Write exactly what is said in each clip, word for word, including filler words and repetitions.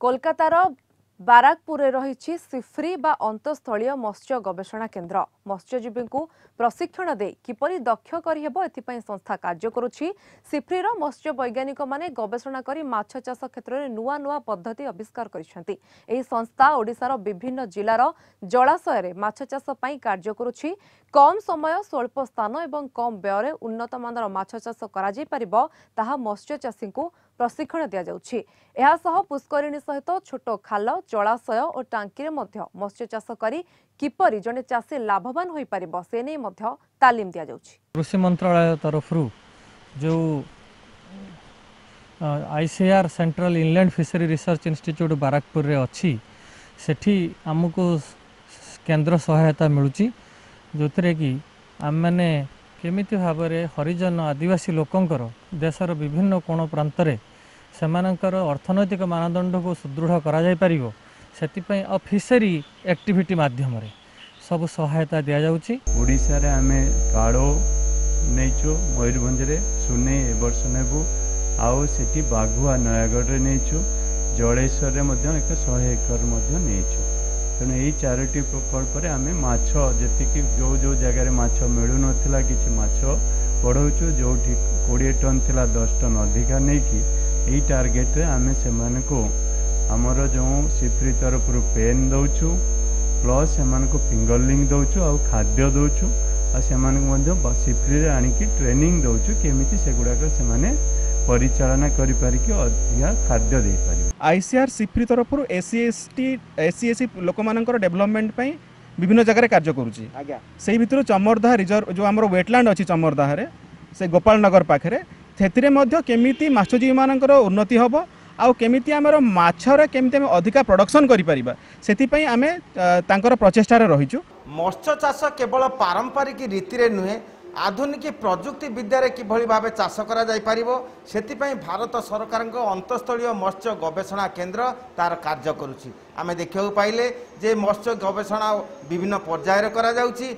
କୋଲକାତାର ବାରାକପୁରରେ ରହିଛି ସିଫ୍ରି ବା ଅନ୍ତଃସ୍ଥଳୀୟ ମତ୍ସ୍ୟ ଗବେଷଣା କେନ୍ଦ୍ର। ମତ୍ସ୍ୟଜୀବୀଙ୍କୁ ପ୍ରଶିକ୍ଷଣ ଦେଇ କିପରି ଦକ୍ଷ କରିହେବ, ଏଥିପାଇଁ ସଂସ୍ଥା କାର୍ଯ୍ୟ କରୁଛି। ସିଫ୍ରିର ମତ୍ସ୍ୟ ବୈଜ୍ଞାନିକମାନେ ଗବେଷଣା କରି ମାଛ ଚାଷ କ୍ଷେତ୍ରରେ ନୂଆ ନୂଆ ପଦ୍ଧତି ଆବିଷ୍କାର କରିଛନ୍ତି। ଏହି ସଂସ୍ଥା ଓଡ଼ିଶାର ବିଭିନ୍ନ ଜିଲ୍ଲାର ଜଳାଶୟରେ ମାଛ ଚାଷ ପାଇଁ କାର୍ଯ୍ୟ କରୁଛି। କମ୍ ସମୟ, ସ୍ୱଳ୍ପ ସ୍ଥାନ ଏବଂ କମ୍ ବ୍ୟୟରେ ଉନ୍ନତମାନର ମାଛ ଚାଷ କରାଯାଇପାରିବ, ତାହା ମତ୍ସ୍ୟ ଚାଷୀଙ୍କୁ ପ୍ରଶିକ୍ଷଣ ଦିଆଯାଉଛି। ଏହାସହ ପୁଷ୍କରିଣୀ ସହିତ ଛୋଟ ଖାଲ, ଜଳାଶୟ ଓ ଟାଙ୍କିରେ ମଧ୍ୟ ମତ୍ସ୍ୟ ଚାଷ କରି କିପରି ଜଣେ ଚାଷୀ ଲାଭବାନ ହୋଇପାରିବ, ସେ ନେଇ ମଧ୍ୟ ତାଲିମ ଦିଆଯାଉଛି। କୃଷି ମନ୍ତ୍ରଣାଳୟ ତରଫରୁ ଯେଉଁ I C A R central inland fishery research institute ବାରାକପୁରରେ ଅଛି, ସେଠି ଆମକୁ କେନ୍ଦ୍ର ସହାୟତା ମିଳୁଛି, ଯେଉଁଥିରେ କି ଆମେମାନେ କେମିତି ଭାବରେ ହରିଜନ ଆଦିବାସୀ ଲୋକଙ୍କର ଦେଶର ବିଭିନ୍ନ କୋଣ ପ୍ରାନ୍ତରେ ସେମାନଙ୍କର ଅର୍ଥନୈତିକ ମାନଦଣ୍ଡକୁ ସୁଦୃଢ଼ କରାଯାଇପାରିବ, ସେଥିପାଇଁ ଆଉ ଫିସରୀ ଆକ୍ଟିଭିଟି ମାଧ୍ୟମରେ ସବୁ ସହାୟତା ଦିଆଯାଉଛି। ଓଡ଼ିଶାରେ ଆମେ କାଳୋ ନେଇଛୁ ମୟୂରଭଞ୍ଜରେ, ସୁନେଇ ଏ ବର୍ଷ ନେବୁ, ଆଉ ସେଠି ବାଘୁଆ ନୟାଗଡ଼ରେ ନେଇଛୁ, ଜଳେଶ୍ୱରରେ ମଧ୍ୟ ଏକ ଶହେ ଏକର ମଧ୍ୟ ନେଇଛୁ। ତେଣୁ ଏଇ ଚାରୋଟି ପ୍ରକଳ୍ପରେ ଆମେ ମାଛ ଯେତିକି ଯେଉଁ ଯେଉଁ ଜାଗାରେ ମାଛ ମିଳୁନଥିଲା, କିଛି ମାଛ ବଢ଼ାଉଛୁ। ଯେଉଁଠି କୋଡ଼ିଏ ଟନ୍ ଥିଲା, ଦଶ ଟନ୍ ଅଧିକା ନେଇକି ଏଇ ଟାର୍ଗେଟରେ ଆମେ ସେମାନଙ୍କୁ ଆମର ଯେଉଁ ସିଫ୍ରି ତରଫରୁ ପେନ୍ ଦେଉଛୁ, ପ୍ଲସ୍ ସେମାନଙ୍କୁ ଫିଙ୍ଗରଲିଙ୍ଗ ଦେଉଛୁ ଆଉ ଖାଦ୍ୟ ଦେଉଛୁ, ଆଉ ସେମାନଙ୍କୁ ମଧ୍ୟ ସିଫ୍ରିରେ ଆଣିକି ଟ୍ରେନିଂ ଦେଉଛୁ, କେମିତି ସେଗୁଡ଼ାକ ସେମାନେ ପରିଚାଳନା କରିପାରିକି ଅଧିକା ଖାଦ୍ୟ ଦେଇପାରିବେ। ଆଇସିଏଆର୍ ସିଫ୍ରି ତରଫରୁ S C, S T, S C, S C ଲୋକମାନଙ୍କର ଡେଭଲପମେଣ୍ଟ ପାଇଁ ବିଭିନ୍ନ ଜାଗାରେ କାର୍ଯ୍ୟ କରୁଛି। ସେଇ ଭିତରୁ ଚମରଦାହା ରିଜର୍ଭ, ଯେଉଁ ଆମର ୱେଟଲ୍ୟାଣ୍ଡ ଅଛି ଚମରଦାହାରେ, ସେ ଗୋପାଳନଗର ପାଖରେ, ସେଥିରେ ମଧ୍ୟ କେମିତି ମାଛଜୀବୀମାନଙ୍କର ଉନ୍ନତି ହେବ ଆଉ କେମିତି ଆମର ମାଛରେ କେମିତି ଆମେ ଅଧିକା ପ୍ରଡକ୍ସନ୍ କରିପାରିବା, ସେଥିପାଇଁ ଆମେ ତାଙ୍କର ପ୍ରଚେଷ୍ଟାରେ ରହିଛୁ। ମତ୍ସ୍ୟ ଚାଷ କେବଳ ପାରମ୍ପରିକ ରୀତିରେ ନୁହେଁ, ଆଧୁନିକ ପ୍ରଯୁକ୍ତି ବିଦ୍ୟାରେ କିଭଳି ଭାବେ ଚାଷ କରାଯାଇପାରିବ, ସେଥିପାଇଁ ଭାରତ ସରକାରଙ୍କ ଅନ୍ତଃସ୍ଥଳୀୟ ମତ୍ସ୍ୟ ଗବେଷଣା କେନ୍ଦ୍ର ତାର କାର୍ଯ୍ୟ କରୁଛି। ଆମେ ଦେଖିବାକୁ ପାଇଲେ ଯେ ମତ୍ସ୍ୟ ଗବେଷଣା ବିଭିନ୍ନ ପର୍ଯ୍ୟାୟରେ କରାଯାଉଛି।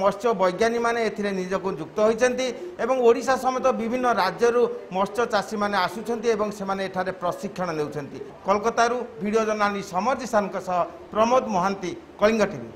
ମତ୍ସ୍ୟ ବୈଜ୍ଞାନିକମାନେ ଏଥିରେ ନିଜକୁ ଯୁକ୍ତ ହୋଇଛନ୍ତି ଏବଂ ଓଡ଼ିଶା ସମେତ ବିଭିନ୍ନ ରାଜ୍ୟରୁ ମତ୍ସ୍ୟ ଚାଷୀମାନେ ଆସୁଛନ୍ତି ଏବଂ ସେମାନେ ଏଠାରେ ପ୍ରଶିକ୍ଷଣ ନେଉଛନ୍ତି। କୋଲକାତାରୁ ଭିଡ଼ିଓ ଜର୍ଣ୍ଣାଲିଷ୍ଟ ସମର ଜିସାନଙ୍କ ସହ ପ୍ରମୋଦ ମହାନ୍ତି, କଳିଙ୍ଗ ଟିଭି।